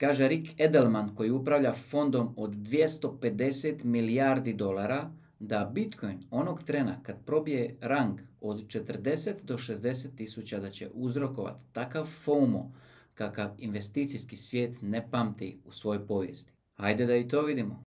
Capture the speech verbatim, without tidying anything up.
Kaže Rick Edelman koji upravlja fondom od dvjesto pedeset milijardi dolara da Bitcoin onog trena kad probije rang od četrdeset do šezdeset tisuća da će uzrokovati takav FOMO kakav investicijski svijet ne pamti u svojoj povijesti. Hajde da i to vidimo.